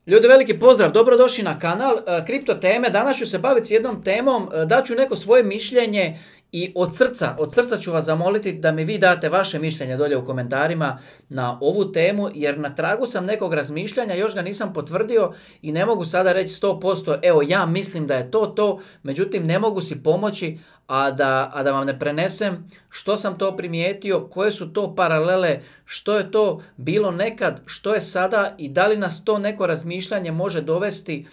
Ljudi, veliki pozdrav, dobrodošli na kanal Kripto teme. Danas ću se baviti s jednom temom, daću neko svoje mišljenje i od srca ću vas zamoliti da mi vi date vaše mišljenje dolje u komentarima na ovu temu, jer na tragu sam nekog razmišljanja, još ga nisam potvrdio i ne mogu sada reći 100%, evo ja mislim da je to, međutim ne mogu si pomoći, a da vam ne prenesem što sam to primijetio, koje su to paralele, što je to bilo nekad, što je sada i da li nas to neko razmišljanje može dovesti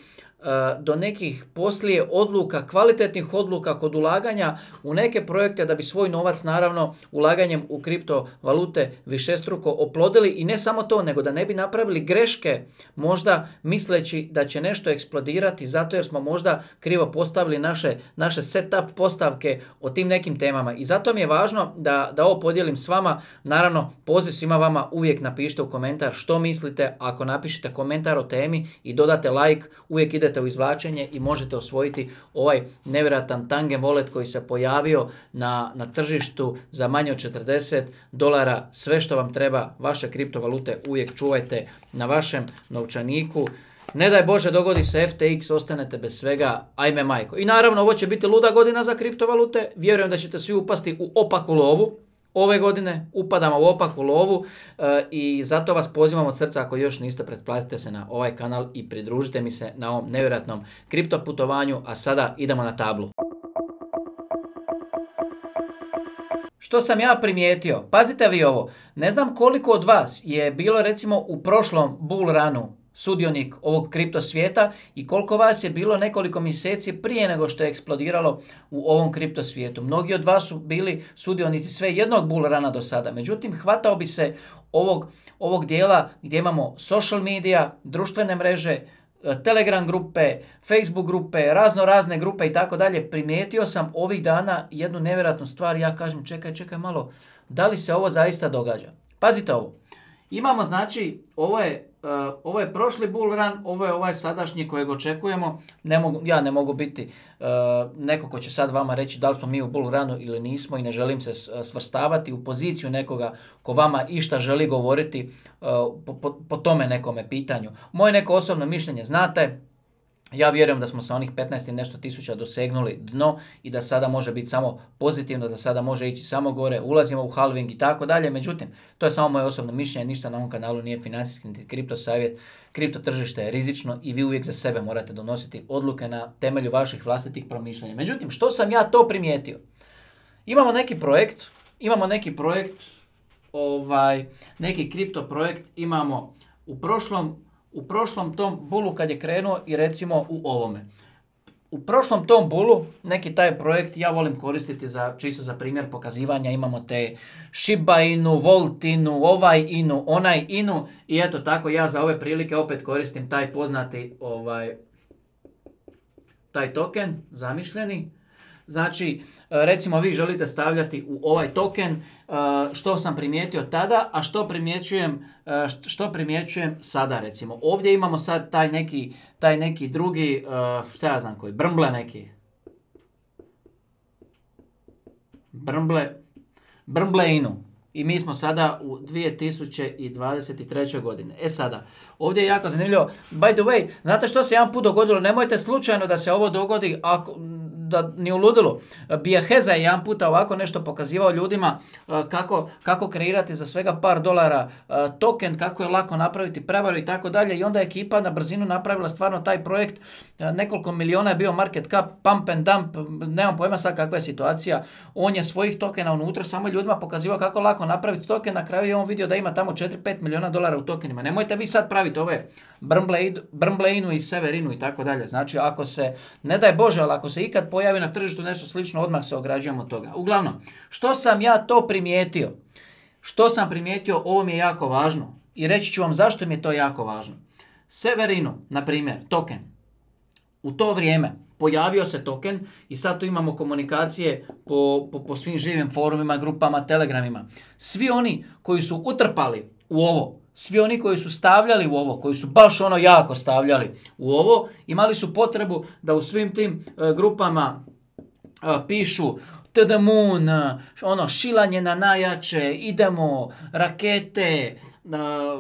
do nekih poslije odluka, kvalitetnih odluka kod ulaganja u neke projekte da bi svoj novac naravno ulaganjem u kriptovalute višestruko oplodili i ne samo to, nego da ne bi napravili greške možda misleći da će nešto eksplodirati zato jer smo možda krivo postavili naše setup postavke o tim nekim temama. I zato mi je važno da ovo podijelim s vama. Naravno, poziv svima vama, uvijek napišite u komentar što mislite. Ako napišete komentar o temi i dodate like, uvijek idete u izvlačenje i možete osvojiti ovaj nevjerojatan Tangen Wallet koji se pojavio na tržištu za manje od $40. Sve što vam treba, vaše kriptovalute uvijek čuvajte na vašem novčaniku. Ne daj Bože dogodi se FTX, ostanete bez svega, ajme majko. I naravno ovo će biti luda godina za kriptovalute, vjerujem da ćete svi upasti u opaku lovu. Ove godine upadamo u opaku lovu i zato vas pozivam od srca, ako još niste, pretplatite se na ovaj kanal i pridružite mi se na ovom nevjerojatnom kripto putovanju, a sada idemo na tablu. Što sam ja primijetio? Pazite vi ovo, ne znam koliko od vas je bilo recimo u prošlom bull runu sudionik ovog kripto svijeta i koliko vas je bilo nekoliko mjeseci prije nego što je eksplodiralo u ovom kripto svijetu. Mnogi od vas su bili sudionici sve jednog bull runa do sada. Međutim, hvatao bi se ovog dijela gdje imamo social media, društvene mreže, Telegram grupe, Facebook grupe, razne grupe i tako dalje. Primijetio sam ovih dana jednu nevjerojatnu stvar. Ja kažem, čekaj malo, da li se ovo zaista događa? Pazite ovo. Imamo znači, ovo je prošli bull run, ovo je ovaj sadašnji kojeg očekujemo. Ja ne mogu biti neko ko će sad vama reći da li smo mi u bull runu ili nismo i ne želim se svrstavati u poziciju nekoga ko vama išta želi govoriti po tome nekome pitanju. Moje neko osobno mišljenje znate. Ja vjerujem da smo sa onih 15 i nešto tisuća dosegnuli dno i da sada može biti samo pozitivno, da sada može ići samo gore, ulazimo u halving i tako dalje. Međutim, to je samo moje osobno mišljenje, ništa na ovom kanalu nije financijski niti kripto savjet. Kripto tržište je rizično i vi uvijek za sebe morate donositi odluke na temelju vaših vlastitih promišljanja. Međutim, što sam ja to primijetio? Imamo neki projekt, neki kripto projekt imamo u prošlom tom bulu kad je krenuo i recimo u ovome. U prošlom tom bulu neki taj projekt ja volim koristiti čisto za primjer pokazivanja. Imamo te Shiba Inu, Volt Inu, ovaj Inu, onaj Inu i eto tako ja za ove prilike opet koristim taj poznati taj token zamišljeni. Znači, recimo vi želite stavljati u ovaj token što sam primijetio tada, a što primjećujem sada recimo. Ovdje imamo sad taj neki drugi, šta ja znam koji, Brmble Inu. I mi smo sada u 2023. godine. Sada, ovdje je jako zanimljivo. By the way, znate što se jedan put dogodilo? Nemojte slučajno da se ovo dogodi da ni u ludilu. Biaheza je jedan puta ovako nešto pokazivao ljudima kako kreirati za svega par dolara token, kako je lako napraviti prevaru i tako dalje. I onda je ekipa na brzinu napravila stvarno taj projekt. Nekoliko miliona je bio market cap, pump and dump, nemam pojma sad kakva je situacija. On je svojih tokena unutra samo ljudima pokazivao kako lako napraviti token. Na kraju je on vidio da ima tamo 4-5 miliona dolara u tokenima. Nemojte vi sad praviti ove Brmbleinu i Severinu i tako dalje. Znači, ako se, ne daj Bože, ali ako se ikad pojavi na tržištu nešto slično, odmah se ograđujemo od toga. Uglavnom, što sam ja to primijetio? Ovo mi je jako važno i reći ću vam zašto mi je to jako važno. Severinu, na primjer, token. U to vrijeme pojavio se token i sad tu imamo komunikacije po svim živim forumima, grupama, telegramima. Svi oni koji su utrpali u ovo, svi oni koji su stavljali u ovo, koji su baš jako stavljali u ovo, imali su potrebu da u svim tim grupama pišu to the moon, šilanje na najjače, idemo, rakete,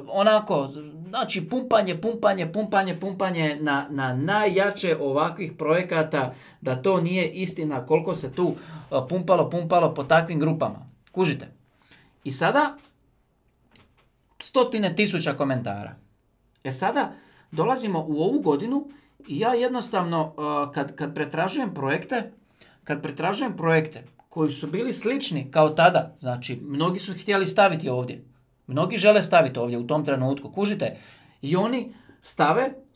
onako, znači pumpanje na najjače ovakvih projekata, da to nije istina koliko se tu pumpalo po takvim grupama. Kužite. I sada stotine tisuća komentara. Sada dolazimo u ovu godinu i ja jednostavno kad pretražujem projekte koji su bili slični kao tada, znači mnogi su htjeli staviti ovdje, mnogi žele staviti ovdje u tom trenutku, kužite, i oni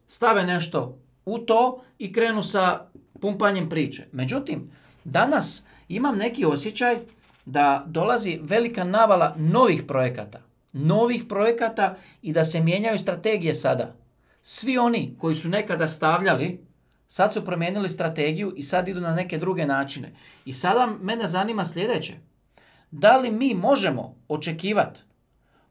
stave nešto u to i krenu sa pumpanjem priče. Međutim, danas imam neki osjećaj da dolazi velika navala novih projekata i da se mijenjaju strategije sada. Svi oni koji su nekada stavljali, sad su promijenili strategiju i sad idu na neke druge načine. I sada mene zanima sljedeće. Da li mi možemo očekivati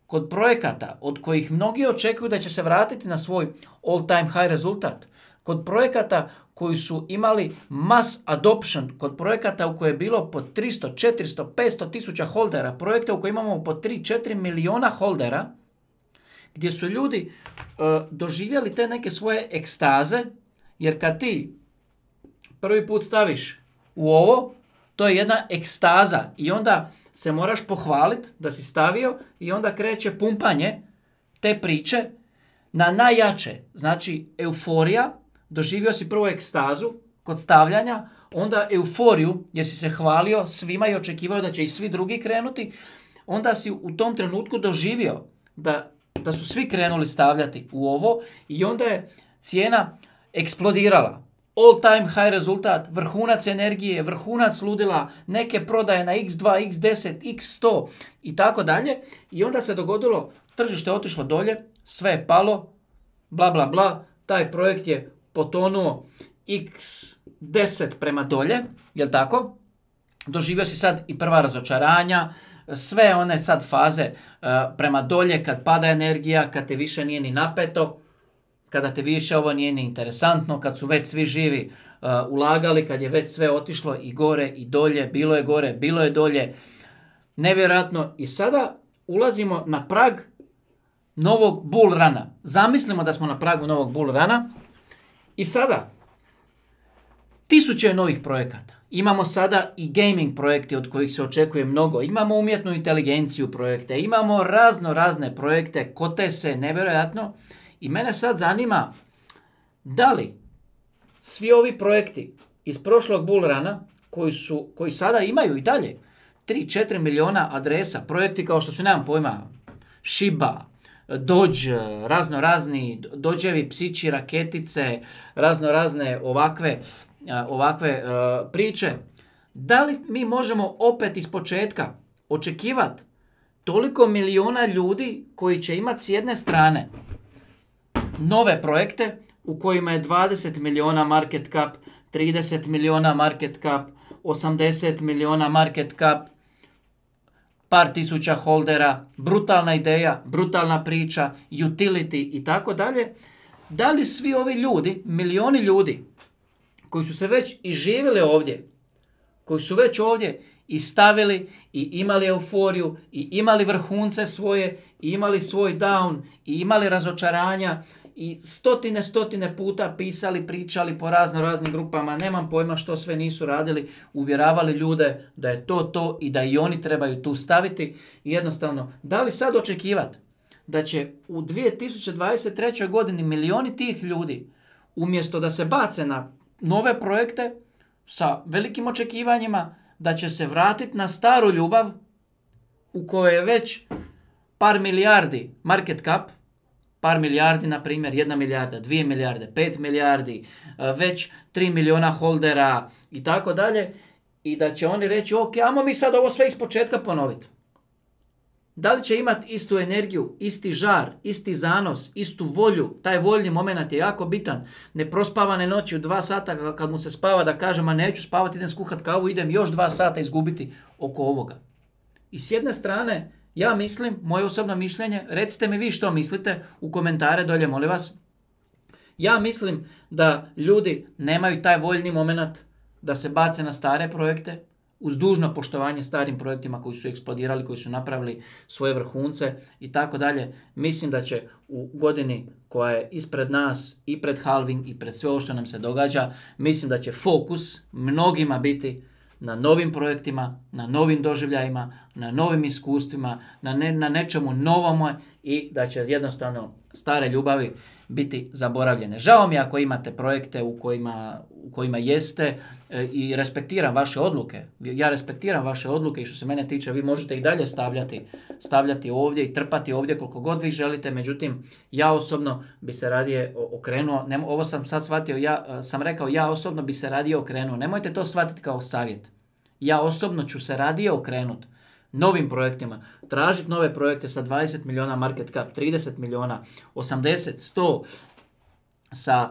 kod projekata od kojih mnogi očekuju da će se vratiti na svoj all time high rezultat, kod projekata koji su imali mass adoption, kod projekata u koje je bilo po 300, 400, 500 tisuća holdera, projekte u koje imamo po 3-4 miliona holdera, gdje su ljudi doživjeli te neke svoje ekstaze, jer kad ti prvi put staviš u ovo, to je jedna ekstaza i onda se moraš pohvaliti da si stavio i onda kreće pumpanje te priče na najjače. Znači euforija, doživio si prvo ekstazu kod stavljanja, onda euforiju jer si se hvalio svima i očekivao da će i svi drugi krenuti, onda si u tom trenutku doživio da su svi krenuli stavljati u ovo i onda je cijena eksplodirala. All time high rezultat, vrhunac energije, vrhunac ludila, neke prodaje na x2, x10, x100 i tako dalje. I onda se dogodilo, tržište je otišlo dolje, sve je palo, bla bla bla, taj projekt je potonuo x10 prema dolje, jel tako? Doživio si sad i prva razočaranja, sve one sad faze prema dolje, kad pada energija, kad te više nije ni napeto, kada te više ovo nije ni interesantno, kad su već svi živi ulagali, kad je već sve otišlo i gore i dolje, bilo je gore, bilo je dolje, nevjerojatno. I sada ulazimo na prag novog bull runa. Zamislimo da smo na pragu novog bull runa i sada tisuće novih projekata. Imamo sada i gaming projekte od kojih se očekuje mnogo. Imamo umjetnu inteligenciju projekte, imamo razne projekte, kote se nevjerojatno. I mene sad zanima da li svi ovi projekti iz prošlog bull runa koji sada imaju i dalje 3-4 miliona adresa, projekti kao što su, nemam pojma, Shiba, Doge, raznorazni Dogevi psići, raketice, raznorazne ovakve priče. Da li mi možemo opet iz početka očekivati toliko miliona ljudi koji će imati s jedne strane nove projekte u kojima je 20 miliona market cap, 30 miliona market cap, 80 miliona market cap, par tisuća holdera, brutalna ideja, brutalna priča, utility i tako dalje. Da li svi ovi ljudi, milioni ljudi koji su se već i živjeli ovdje, koji su već ovdje i stavili i imali euforiju i imali vrhunce svoje i imali svoj down i imali razočaranja i stotine puta pisali, pričali po raznim grupama, nemam pojma što sve nisu radili, uvjeravali ljude da je to i da i oni trebaju tu staviti. I jednostavno, da li sad očekivati da će u 2023. godini milioni tih ljudi, umjesto da se bace na nove projekte sa velikim očekivanjima, da će se vratiti na staru ljubav u kojoj je već par milijardi market cap, par milijardi, na primjer, 1 milijarda, 2 milijarde, 5 milijardi, već 3 miliona holdera i tako dalje, i da će oni reći, ok, ajmo mi sad ovo sve ispočetka ponoviti. Da li će imati istu energiju, isti žar, isti zanos, istu volju, taj voljni moment je jako bitan. Neprospavane noći u 2 sata kad mu se spava da kaže, ma neću spavati, idem skuhat kavu, idem još 2 sata izgubiti oko ovoga. I s jedne strane, ja mislim, moje osobno mišljenje, recite mi vi što mislite u komentare dolje, molim vas. Ja mislim da ljudi nemaju taj voljni moment da se bace na stare projekte, uz dužno poštovanje starim projektima koji su eksplodirali, koji su napravili svoje vrhunce i tako dalje. Mislim da će u godini koja je ispred nas i pred halving i pred sve ovo što nam se događa, mislim da će fokus mnogima biti na novim projektima, na novim doživljajima, na novim iskustvima, na nečemu novome i da će jednostavno stare ljubavi biti zaboravljene. Žao mi ako imate projekte u kojima jeste i respektiram vaše odluke. Ja respektiram vaše odluke i što se mene tiče, vi možete i dalje stavljati ovdje i trpati ovdje koliko god vi želite, međutim, ja osobno bi se radije okrenuo, ovo sam sad shvatio, ja sam rekao, ja osobno bi se radije okrenuo, nemojte to shvatiti kao savjet. Ja osobno ću se radije okrenuti novim projektima, tražiti nove projekte sa 20 milijuna market cap, 30 milijuna, 80, 100,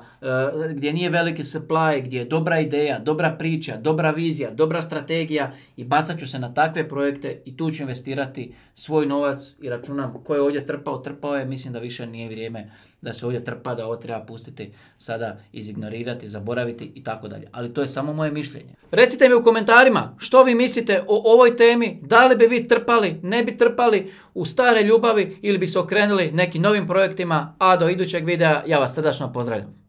gdje nije veliki supply, gdje je dobra ideja, dobra priča, dobra vizija, dobra strategija i bacat ću se na takve projekte i tu ću investirati svoj novac i računam ko je ovdje trpao je, mislim da više nije vrijeme da se ovdje trpa, da ovo treba pustiti sada, izignorirati, zaboraviti i tako dalje. Ali to je samo moje mišljenje. Recite mi u komentarima što vi mislite o ovoj temi, da li bi vi trpali, ne bi trpali u stare ljubavi ili bi se okrenuli nekim novim projektima, a do idućeg videa ja vas srdačno pozdravljam.